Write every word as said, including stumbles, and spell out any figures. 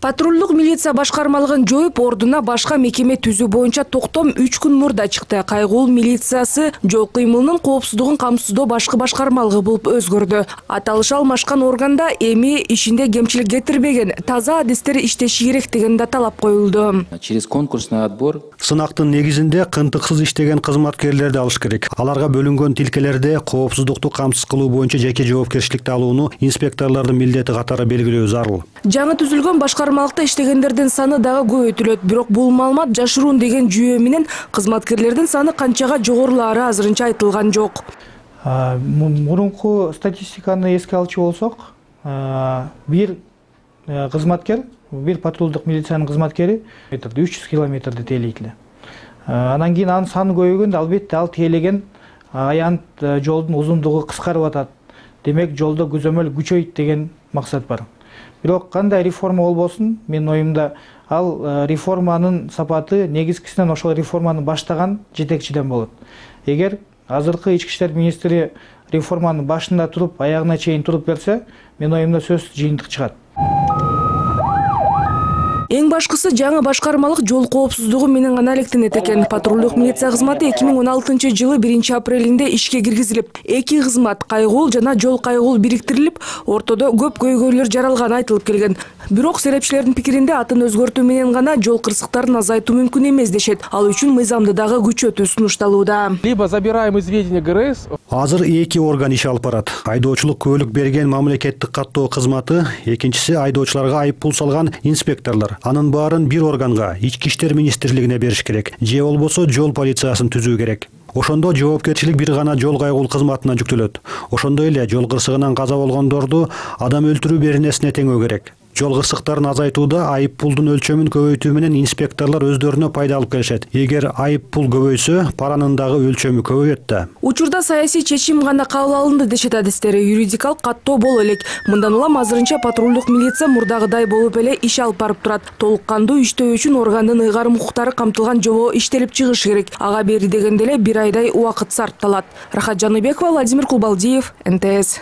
Патрулдук милиция башкармалыгын жоюп, ордуна башка мекеме түзүү боюнча токтом үч күн мурда чыкты. Кайгуул милициясы жол кыймылынын коопсуздугун камсыздоо башкы башкармалыгы болуп өзгөрдү. Аталыш алмашкан органда эми ишинде кемчилик кетирбеген, таза адистер иштеши керек деген да талап коюлду. Через конкурсный отбор сынактын негизинде кынтыксыз иштеген кызматкерлерди алыш керек. Аларга бөлүнгөн тилкелерде коопсуздукту камсыз кылуу боюнча жеке жоопкерчиликти алууну инспекторлордун милдети катары белгилөө зарыл. Жаңы түзүлгөн башкармалыкта иштегендердин саны дагы көбөйтүлөт. Бирок бул маалымат жашыруун деген жүйө менен кызматкерлердин саны канчага жогорулаары азырынча айтылган жок. Мурунку статистиканы эске алчу болсок, бир кызматкер, бир патрулдук милициянын кызматкери үч жүз километрди тейлейт эле. Анан кийин анын саны көбөйгөндө албетте ал тейлеген аянт жолдун узундугу кыскарып атат. Демек жолдо көзөмөл күчөйт деген максат бар. Бирок кандай реформа болбосун, менин оюмда ал реформанын сапаты негизгисинен ошол реформаны баштаган жетекчиден болот. Эгер азыркы ички иштер министри реформанын башында туруп, аягына чейин туруп берсе, менин оюмда сөзсүз жыйынтык чыгат. Эң башкысы жаңы башкармалык жол коопсуздугу менен гана алектенет экен. Патрулдук милиция кызматы эки миң он алтынчы жылы биринчи апрелинде ишке киргизилип, эки кызмат кайгуул жана жол кайгуул бириктирилип, ортодо көп көйгөйлөр жаралганы айтылып келген. Бирок серепчилердин пикиринде атын өзгөртүү менен гана жол кырсыктарын азайтуу мүмкүн эмес дешет. Ал үчүн мыйзамды дагы күчөтүү сунушталууда. Либо забираем из ведения ГРС. Азыр эки орган иш алып барат. Айдоочулук күбөлүк берген мамлекеттик каттоо кызматы, экинчиси айдоочуларга айып пул салган инспекторлор. Анын баарын бир органга, ички иштер министрлигине бериш керек. Же болбосо жол полициясын түзүү керек. Ошондо жоопкерчилик бир гана жол кайгуул кызматына жүктөлөт. Ошондой эле жол кырсыгынан каза болгондорду адам өлтүрүү беренесине теңөө керек. Жол кырсыктарын азайтууда айып пулдун өлчөмүн көбөйтүү менен инспекторлор өздөрүнө пайда алып келишет. Эгер айып пул көбөйсө, паранын дагы өлчөмү көбөйөт да. Учурда саясий чечим гана кабыл алынды дешет адистери. Юридикалык каттоо боло элек. Мындан улам азырынча патрулдук милиция мурдагыдай болуп эле иш алып барып турат. Толук кандуу иштөө үчүн органдын ыйгарым укуктары камтылган жобо иштелип чыгыш керек. Ага бери дегенде эле бир айдай убакыт сарпталат. Рахат Жаныбекова, Владимир Кулбалдиев, эн тэ эс.